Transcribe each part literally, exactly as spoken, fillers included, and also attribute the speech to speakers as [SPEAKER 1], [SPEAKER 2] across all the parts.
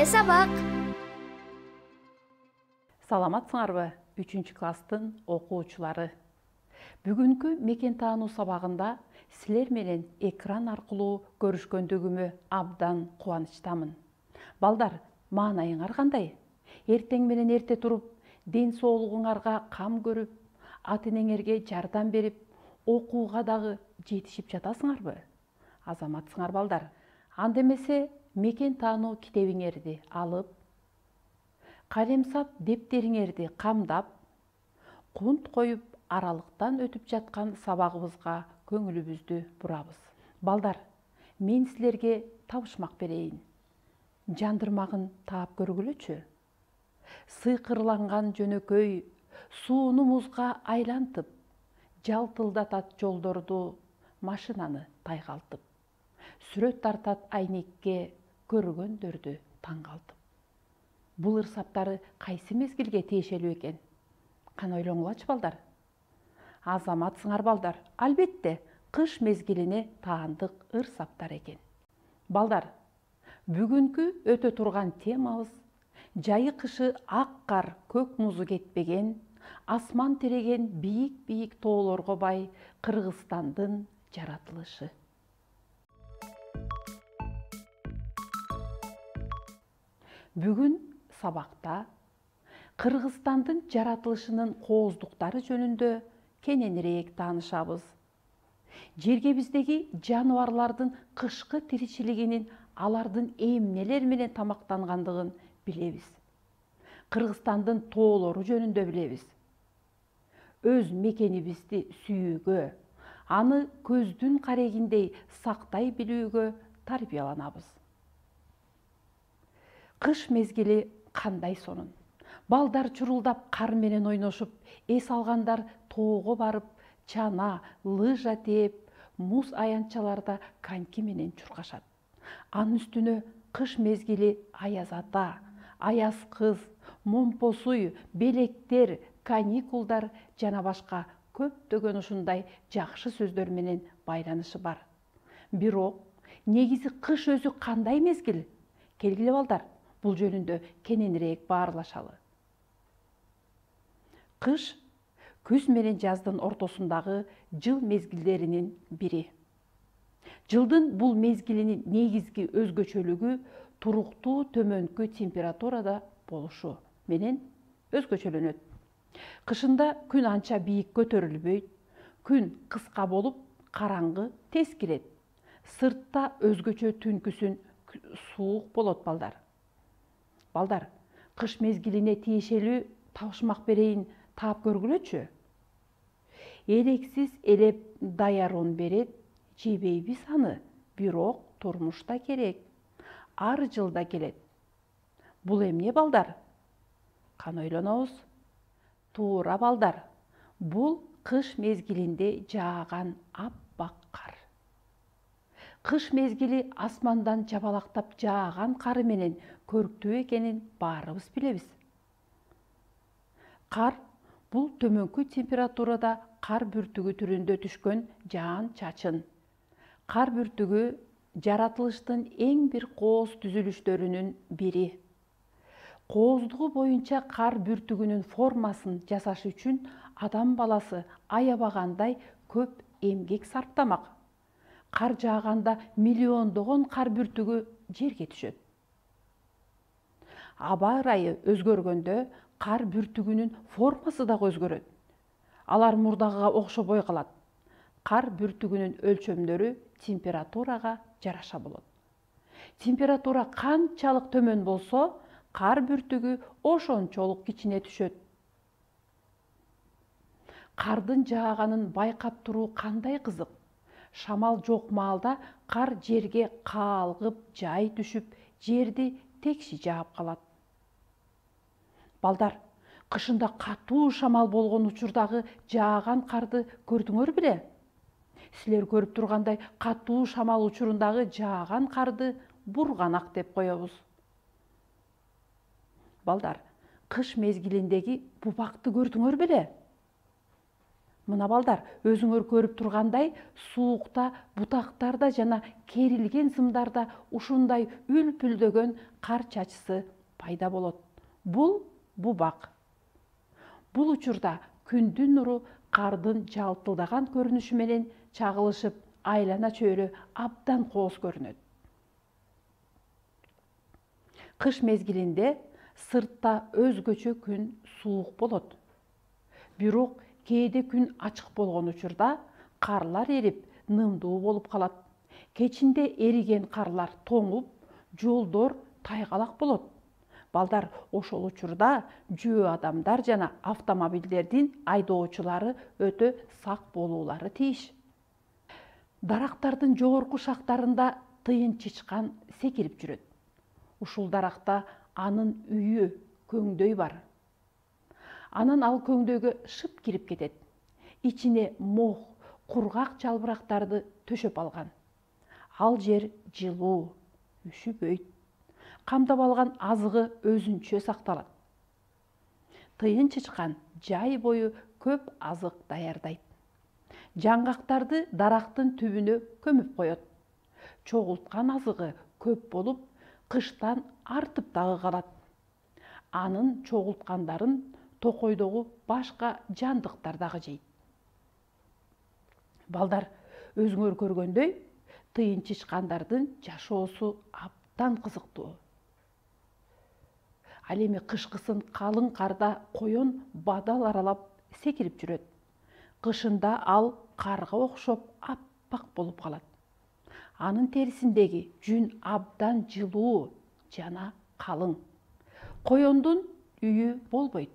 [SPEAKER 1] Келе сабак.
[SPEAKER 2] Саламатсыңарбы, үчүнчү класстын окуучулары. Бүгүнкү мекен таануу сабагында силер менен экран аркылуу көрүшкөндүгүмө абдан кубанычтамын. Балдар, маанайыңар кандай? Эртең менен эрте туруп, ден соолугуңарга кам көрүп, ата-энеңерге жардам берип, окууга дагы жетишип жатасыңарбы? Азаматсыңар балдар. Анда эмесе мекен таануу китебиңерди алып, калемсап дептериңерди камдап, кунт коюп аралыктан өтүп жаткан сабагыбызга көңүлүбүздү бурабыз. Балдар, мен силерге табышмак берейин. Жандырмагын таап көргүлөчү. Сыйкырланган жөнөкөй сууну музга айлантып, жалтылдатат жолдорду машинаны тайгалтып. Сүрөт тартат айнекке көргөндөрдү таң калтып. Бул ырсаптары кайсы мезгилге тиешелүү экен? Кана ойлоңулачы балдар. Азаматсыңар балдар, албетте кыш мезгилине таандык ырсаптар экен. Балдар, бүгүнкү өтө турган темабыз жайы кышы ак кар көк музу кетпеген, асман тереген бийик-бийик тоолорго бай Кыргызстандын жаратылышы. Бүгүн сабакта Кыргызстандын жаратылышынын кооздуктары жөнүндө кененирээк таанышабыз. Жергебиздеги жаныбарлардын кышкы тиричилигинин алардын эмнелер менен тамактангандыгын билебиз. Кыргызстандын тоолору жөнүндө билебиз. Өз мекенибизди сүйүүгө, аны көздүн карегиндей сактай билүүгө тарбияланабыз. Кыш мезгили кандай сонун. Балдар чурулдап кар менен ойношуп, эс алгандар тоого барып, чана, лыжа тээп, муз аянтчаларда коньки менен чуркашат. Анын үстүнө кыш мезгили аяз ата, аяз кыз, момпосуй, белектер, каникулдар жана башка көптөгөн ушундай жакшы сөздөр менен байланышы бар. Бирок, негизи кыш өзү кандай мезгил? Келгиле балдар, бул жөнүндө кененирээк баарлашалы. Кыш күз менен жаздын ортосундагы жыл мезгилдеринин бири. Жылдын бул мезгилинин негизги өзгөчөлүгү туруктуу төмөнкү температурада болушу менен өзгөчөлөнөт. Кышында күн анча бийик көтөрүлбөйт, күн кыска болуп, караңгы тез кирет. Сыртта өзгөчө түнкүсүн суук болот балдар. Балдар, кыш мезгилине тиешелүү табышмак берейин таап көргүлөчү. Элексиз элеп даярун берет, жебейбиз аны, бирок турмушта керек. Ар жылда келет. Бул эмне балдар? Кана ойлонобуз. Туура балдар. Бул кыш мезгилинде жааган аппак кар. Кыш мезгили асмандан жабалактап жааган кары менен көрктүү экенин баарыбыз билебиз. Кар бул төмөнкү температурада кар бүртүгү түрүндө түшкөн жаан чачын. Кар бүртүгү жаратылыштын эң бир кооз түзүлүштөрүнүн бири. Кооздугу боюнча кар бүртүгүнүн формасын жасаш үчүн адам баласы аябагандай көп эмгек сарптамак. Кар жааганда миллиондогон кар бүртүгү жерге түшөт. Аба ырайы өзгөргөндө кар бүртүгүнүн формасы дагы өзгөрөт. Алар мурдагыга окшобой калат. Кар бүртүгүнүн өлчөмдөрү температурага жараша болот. Температура канчалык төмөн болсо, кар бүртүгү ошончолук кичине түшөт. Кардын жааганын байкап туруу кандай кызык. Шамал жок маалда кар жерге каалгып, жай түшүп, жерди текши жаап калат. Балдар, кышында катуу шамал болгон учурдагы жааган карды көрдүңөр беле? Силер көрүп тургандай, катуу шамал учурундагы жааган карды бурганак деп коебуз. Балдар, кыш мезгилиндеги бубакты көрдүңөр беле? Мына балдар, өзүңөр көрүп тургандай, суукта, бутактарда жана керилген сымдарда ушундай үлпүлдөгөн кар чачысы пайда болот. Бул бубак. Бул учурда күндүн нуру кардын жалтылдаган көрүнүшү менен чагылышып, айлана чөйрө абдан кооз көрүнөт. Кыш мезгилинде сыртта өзгөчө күн суук болот. Бирок кээде күн ачык болгон учурда карлар эрип, нымдуу болуп калат. Кечинде эриген карлар тоңуп, жолдор тайгалак болот. Балдар, ошол учурда жөө адамдар жана автомобилдердин айдоочулары өтө сак болуулары тийиш. Дарактардын жогорку шактарында тыйын чычкан секирип жүрөт. Ушул даракта анын үйү, көңдөй бар. Анан ал көңдөйгө шып кирип кетет. Ичине мох, кургак жалбырактарды төшөп алган. Ал жер жылуу, үшүбөйт. Камдап алган азыгы өзүнчө сакталат. Тыйын чычкан жай бою көп азык даярдайт. Жаңгактарды дарактын түбүнө көмүп коет. Чогулткан азыгы көп болуп, кыштан артып дагы калат. Анын чогулткандарын токойдогу башка жандыктар дагы жейт. Балдар, өзүңөр көргөндөй, тыйын чычкандардын жашоосу абдан кызыктуу. Ал эми кышкысын калың карда коён бадал аралап секирип жүрөт. Кышында ал карга окшоп аппак болуп калат. Анын терисиндеги жүн абдан жылуу жана калың. Коёндун үйү болбойт.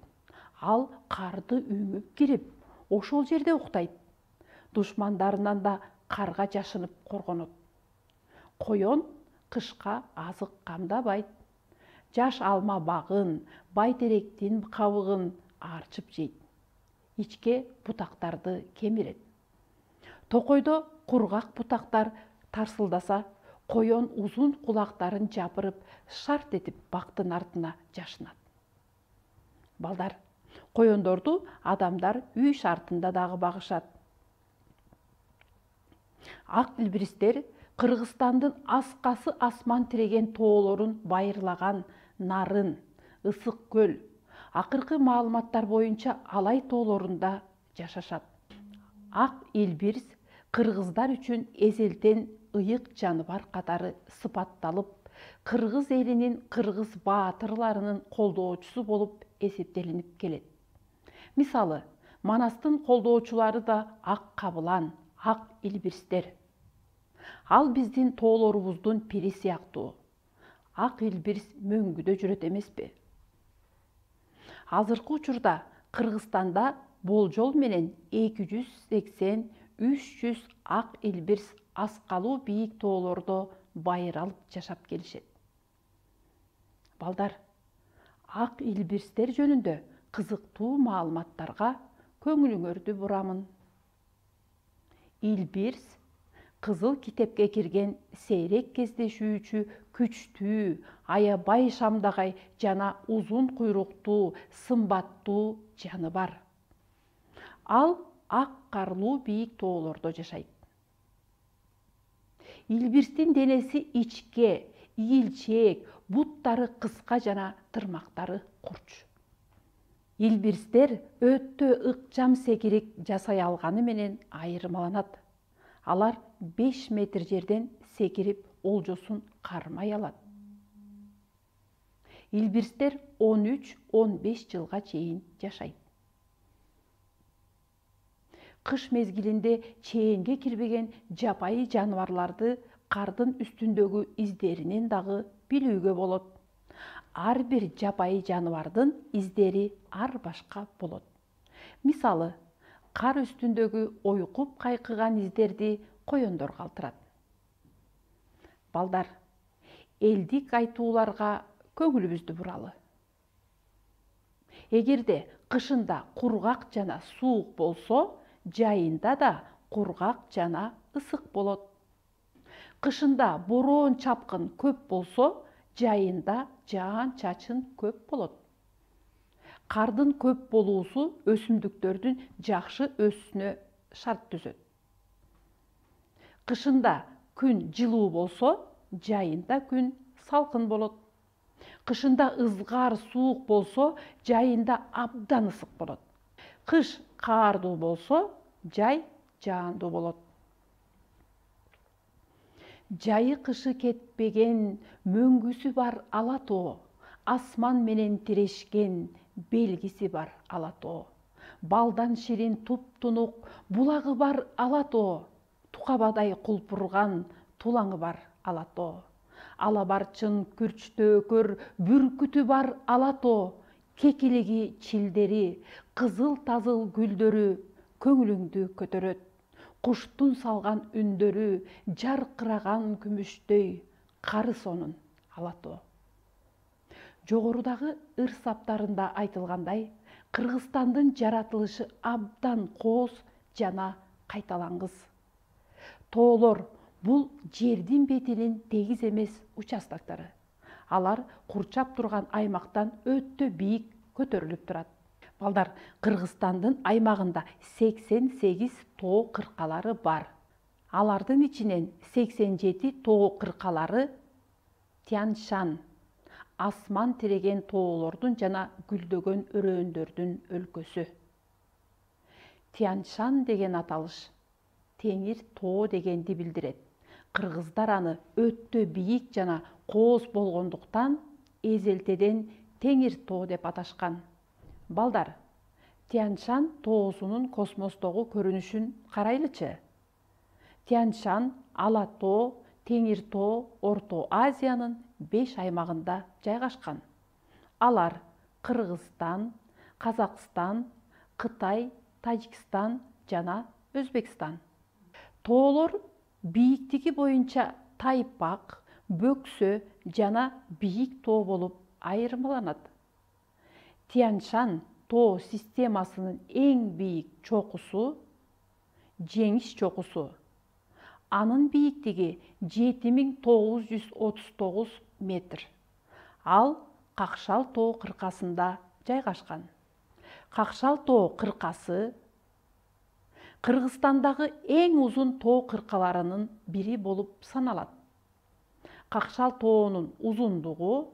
[SPEAKER 2] Ал карды үңүп кирип, ошол жерде уктайт. Душмандарынан да карга жашынып коргонот. Коён кышка азык камдабайт. Жаш алма багын, байтеректин кабыгын арчып жейт. Ичке бутактарды кемирет. Токойдо кургак бутактар тарсылдаса, коён узун кулактарын жапырып, шарт этип бактын артына жашынат. Балдар, коёндорду адамдар үй шартында дагы багышат. Ак илбиристер Кыргызстандын аскасы асман тиреген тоолорун байырлаган Нарын, Ысык көл, акыркы маалыматтар боюнча Алай тоолорунда жашашат. Ак илбирс кыргыздар үчүн эзелтен ыйык жаныбар катары сыпатталып, кыргыз элинин кыргыз баатырларынын колдоочусу болуп эсептелинип келет. Мисалы, Манастын колдоочулары да ак кабылан, ак илбирстер. Ал биздин тоолорубуздун пири сыяктуу. Ак илбирс мөңгүдө жүрөт эмеспи? Азыркы учурда Кыргызстанда болжол менен эки жүз сексен — үч жүз ак илбирс аскалуу бийик тоолордо байыр алып жашап келишет. Балдар, ак илбирстер жөнүндө кызыктуу маалыматтарга көңүлүңөрдү бурамын. Илбирс кызыл китепке кирген сейрек кездешүүчү күчтүү, аябай шамдагай жана узун куйруктуу, сымбаттуу жаныбар. Ал ак карлуу бийик тоолордо жашайт. Илбирстин денеси ичке, ийилчээк, буттары кыска жана тырмактары курч. Илбирстер өтө ыкчам секирик жасай алганы менен айырмаланат. Алар беш метр жерден секирип олжосун кармай алат. Илбирстер он үч — он беш жылга чейин жашайт. Кыш мезгилинде чээнге кирбеген жапайы жаныбарларды кардын үстүндөгү издеринен дагы билүүгө болот. Ар бир жапайы жаныбардын издери ар башка болот. Мисалы, кар үстүндөгү ойкуп кайкыган издерди коёндор калтырат. Балдар, элдик айтууларга көңүлүбүздү буралы. Эгерде кышында кургак жана суук болсо, жайында да кургак жана ысык болот. Кышында бороон чапкын көп болсо, жайында жаан чачын көп болот. Кардын көп болуусу өсүмдүктөрдүн жакшы өсүшүнө шарт түзөт. Кышында күн жылуу болсо, жайында күн салкын болот. Кышында ызгар суук болсо, жайында абдан ысык болот. Кыш каардуу болсо, жай жаандуу болот. Жайы кышы кетпеген, мөңгүсү бар ала тоо, асман менен тирешкен, белгиси бар ала тоо. Балдан ширин туп-тунук, булагы бар ала тоо, тукабадай кулпурган, тулаңы бар ала тоо. Ала барчын күрчтөөкөр, бүркүтү бар ала тоо, кекилиги чилдери, кызыл-тазыл гүлдөрү көңүлүңдү көтөрөт. Куштун салган үндөрү, жаркыраган күмүштөй, кары сонун ала тоо. Жогорудагы ыр саптарында айтылгандай, Кыргызстандын жаратылышы абдан кооз жана кайталангыс. Тоолор бул жердин бетинин тегиз эмес участоктору. Алар курчап турган аймактан өтө бийик көтөрүлүп турат. Балдар, Кыргызстандын аймагында сексен сегиз тоо кыркалары бар. Алардын ичинен сексен жети тоо кыркалары Тянь-Шань, асман тиреген тоолордун жана гүлдөгөн өрөөндөрдүн өлкөсү. Тянь-Шань деген аталыш теңир тоо дегенди билдирет. Кыргыздар аны өтө бийик жана кооз болгондуктан эзелтеден теңир тоо деп аташкан. Балдар, Тянь-Шань тоосунун космостогу көрүнүшүн карайлычы. Тянь-Шань ала тоо, теңир тоо Орто Азиянын беш аймагында жайгашкан. Алар Кыргызстан, Казакстан, Кытай, Тажикстан жана Өзбекстан. Тоолор бийиктиги боюнча тайпак, бөксө жана бийик тоо болуп айырмаланат. Тянь-Шань тоо системасынын эң бийик чокусу Жеңиш чокусу. Анын бийиктиги жети миң тогуз жүз отуз тогуз метр. Ал Какшал тоо кыркасында жайгашкан. Какшал тоо кыркасы Кыргызстандагы эң узун тоо кыркаларынын бири болуп саналат. Какшал тоонун узундугу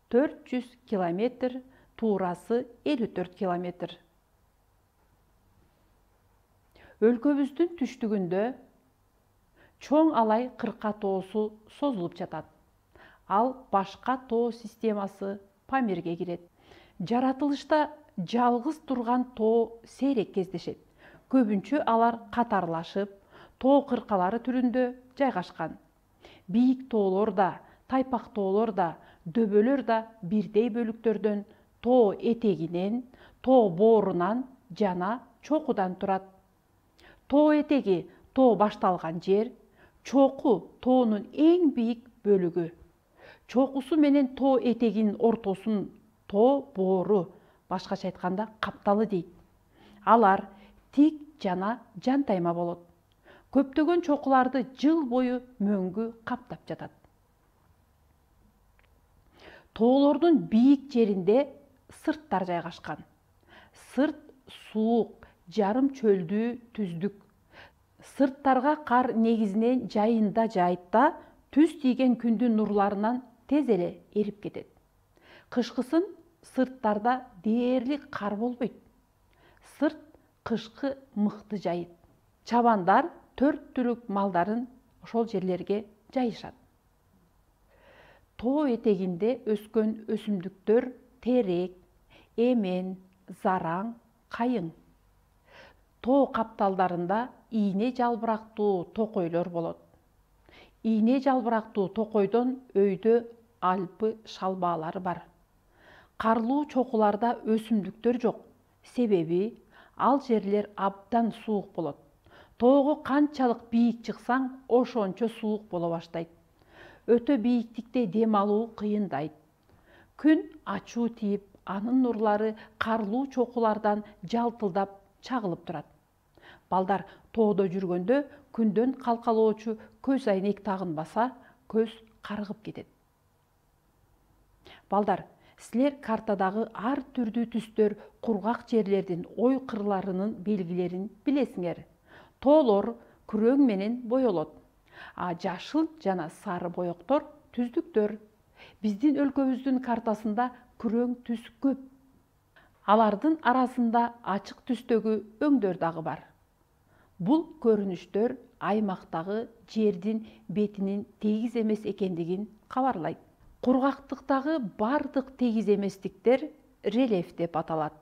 [SPEAKER 2] төрт жүз километр, туурасы элүү төрт километр. Өлкөбүздүн түштүгүндө Чоң Алай кырка тоосу созулуп жатат. Ал башка тоо системасы Памирге кирет. Жаратылышта жалгыз турган тоо сейрек кездешет. Көбүнчө алар катарлашып, тоо кыркалары түрүндө жайгашкан. Бийик тоолор да, тайпак тоолор да, дөбөлөр да бирдей бөлүктөрдөн, тоо этегинен, тоо боорунан жана чокудан турат. Тоо этеги тоо башталган жер, чоку тоонун эң бийик бөлүгү. Чокусу менен тоо этегинин ортосун тоо боору, башкача айтканда капталы дейт. Алар тик жана жантайма болот. Көптөгөн чокуларды жыл бою мөңгү каптап жатат. Тоолордун бийик жеринде сырттар жайгашкан. Сырт суук, жарым чөлдүү түздүк. Сырттарга кар негизинен жайында жаайт да, түз тийген күндүн нурларынан тез эле эрип кетет. Кышкысын сырттарда дээрлик кар болбойт. Сырт кышкы мыкты жайыт. Чабандар төрт түлүк малдарын ошол жерлерге жайышат. Тоо этегинде өскөн өсүмдүктөр терек, эмен, зараң, кайың. Тоо капталдарында ийне жалбырактуу токойлор болот. Ийне жалбырактуу токойдон өйдө Альпы шалбаалары бар. Карлуу чокуларда өсүмдүктөр жок. Себеби ал жерлер абдан суук болот. Тоого канчалык бийик чыксаң, ошончо суук боло баштайт. Өтө бийиктикте дем алуу кыйындайт. Күн ачуу тийип, анын нурлары карлуу чокулардан жалтылдап чагылып турат. Балдар, тоодо жүргөндө күндөн калкалоочу көз айнек тагынбаса, көз карыгып кетет. Балдар, Силер картадагы ар түрдүү түстөр, кургак жерлердин ой кырларынын белгилерин билесиңер. Тоолор күрөң менен боелот, а жашыл жана сары боектор түздүктөр. Биздин өлкөбүздүн картасында күрөң түс көп. Алардын арасында ачык түстөгү өңдөр дагы бар. Бул көрүнүштөр аймактагы жердин бетинин тегиз эмес экендигин кабарлайт. Кургактыктагы бардык тегиз эместиктер рельеф деп аталат.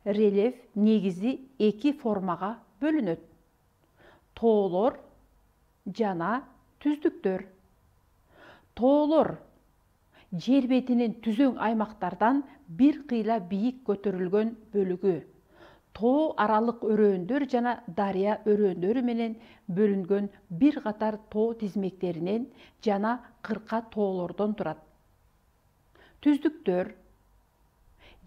[SPEAKER 2] Рельеф негизи эки формага бөлүнөт: тоолор жана түздүктөр. Тоолор жер бетинин түзөң аймактардан бир кыйла бийик көтөрүлгөн бөлүгү. Тоо аралык өрөөндөр жана дарыя өрөөндөрү менен бөлүнгөн бир катар тоо тизмектеринен жана кырка тоолордон турат. Түздүктөр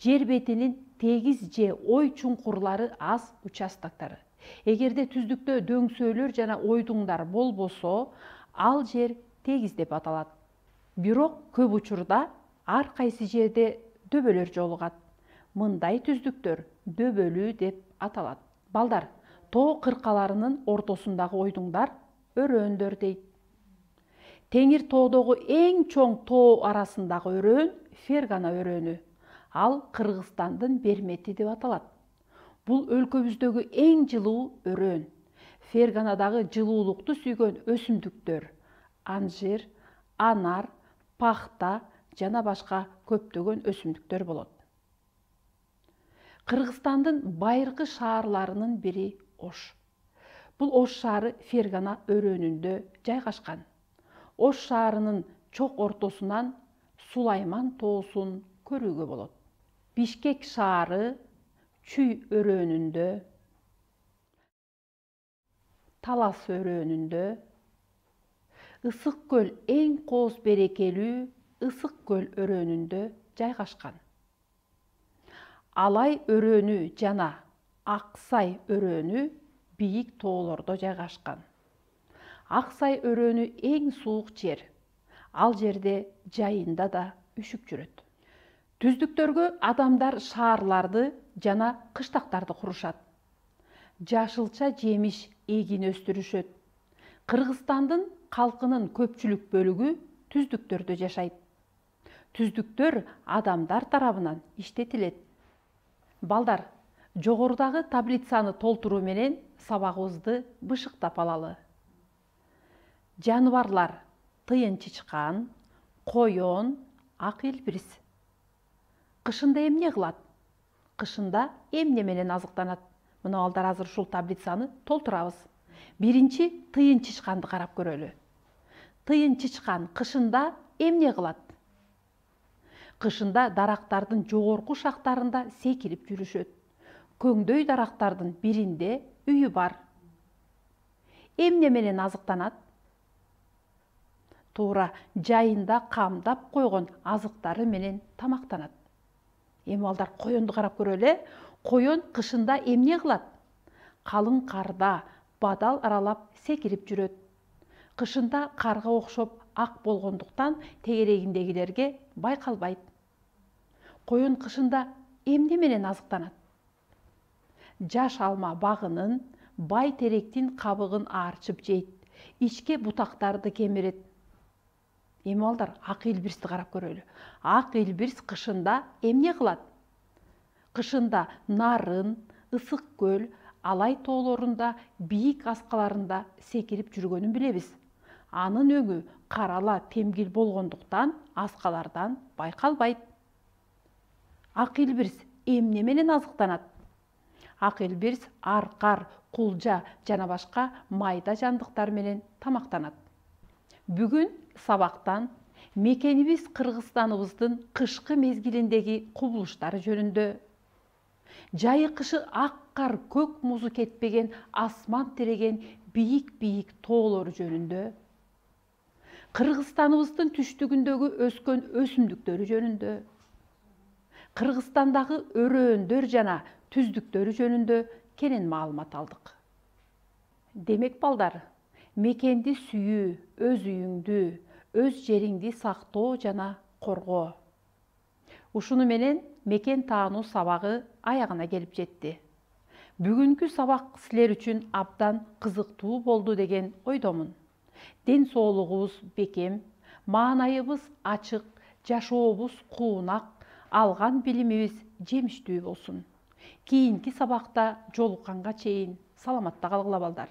[SPEAKER 2] жер бетинин тегиз же ой чуңкурлары аз участоктор. Эгерде түздүктө дөңсөөлөр жана ойдуңдар болбосо, ал жер тегиз деп аталат. Бирок көп учурда ар кайсы жерде дөбөлөр жолугат. Мындай түздүктөр дөбөлүү деп аталат. Балдар, тоо кыркаларынын ортосундагы ойдуңдар өрөөндөр дейт. Теңир тоодогу эң чоң тоо арасындагы өрөөн Фергана өрөөнү. Ал Кыргызстандын Бермети деп аталат. Бул өлкөбүздөгү эң жылуу өрөөн. Ферганадагы жылуулукту сүйгөн өсүмдүктөр анжир, анар, пахта жана башка көптөгөн өсүмдүктөр болот. Кыргызстандын байыркы шаарларынын бири Ош. Бул Ош шаары Фергана өрөөнүндө жайгашкан. Ош шаарынын чок ортосунан Сулайман тоосун көрүүгө болот. Бишкек шаары Чүй өрөөнүндө, Талас өрөөнүндө, Ысык көл эң кооз берекелүү Ысык көл өрөөнүндө жайгашкан. Алай өрөөнү жана Аксай өрөөнү бийик тоолордо жайгашкан. Аксай өрөөнү эң суук жер. Ал жерде жайында да үшүк жүрөт. Түздүктөргө адамдар шаарларды жана кыштактарды курушат. Жашылча жемиш эгин өстүрүшөт. Кыргызстандын калкынын көпчүлүк бөлүгү түздүктөрдө жашайт. Түздүктөр адамдар тарабынан иштетилет. Балдар, жогорудагы таблицаны толтуруу менен сабагыбызды бышыктап алалы. Жаныбарлар: тыйын чычкан, коён, ак илбирс. Кышында эмне кылат? Кышында эмне менен азыктанат? Мына балдар, азыр ушул таблицаны толтурабыз. Биринчи тыйын чычканды карап көрөлү. Тыйын чычкан кышында эмне кылат? Кышында дарактардын жогорку шактарында секирип жүрүшөт. Көңдөй дарактардын биринде үйү бар. Эмне менен азыктанат? Туура, жайында камдап койгон азыктары менен тамактанат. Эми балдар, коёнду карап көрөлү. Коён кышында эмне кылат? Калың карда бадал аралап секирип жүрөт. Кышында карга окшоп ак болгондуктан тегерегиндегилерге байкалбайт. Коён кышында эмне менен азыктанат? Жаш алма багынын, бай теректин кабыгын аарчып жейт. Ичке бутактарды кемирет. Эми балдар, ак илбирсти карап көрөлү. Ак илбирс кышында эмне кылат? Кышында нарын, ысык көл, алай тоолорунда, бийик аскаларында секирип жүргөнүн билебиз. Анын өңү карала темгил болгондуктан аскалардан байкалбайт. Ак илбирс эмне менен азыктанат? Ак илбирс аркар, кулжа жана башка майда жандыктар менен тамактанат. Бүгүн сабактан мекенибиз Кыргызстаныбыздын кышкы мезгилиндеги кубулуштары жөнүндө, жайы кышы ак кар, көк музу кетпеген, асман тиреген бийик-бийик тоолор жөнүндө, Кыргызстаныбыздын түштүгүндөгү өскөн өсүмдүктөрү жөнүндө, Кыргызстандагы өрөөндөр жана түздүктөрү жөнүндө кенен маалымат алдык. Демек балдар, мекенди сүйүү, өз үйүңдү, өз жериңди сактоо жана коргоо. Ушуну менен мекен таануу сабагы аягына келип жетти. Бүгүнкү сабак силер үчүн абдан кызыктуу болду деген ойдомун. Ден соолугубуз бекем, маанайыбыз ачык, жашообуз куунак, алган билимибиз жемиштүү болсун. Кийинки сабакта жолукканга чейин саламатта калгыла балдар.